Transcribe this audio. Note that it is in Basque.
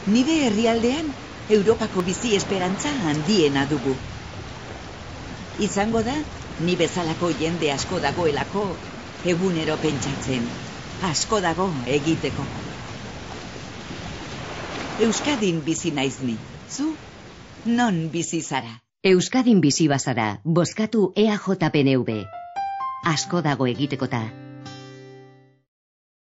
Nire herrialdean, Europako bizi esperantza handiena dugu. Izango da, ni bezalako jende asko dagoelako, egunero pentsatzen, asko dago egiteko. Euskadin bizi naiz ni, zu, non bizi zara? Euskadin bizi bazara, bozkatu EAJ-PNV. Asko dago egitekota.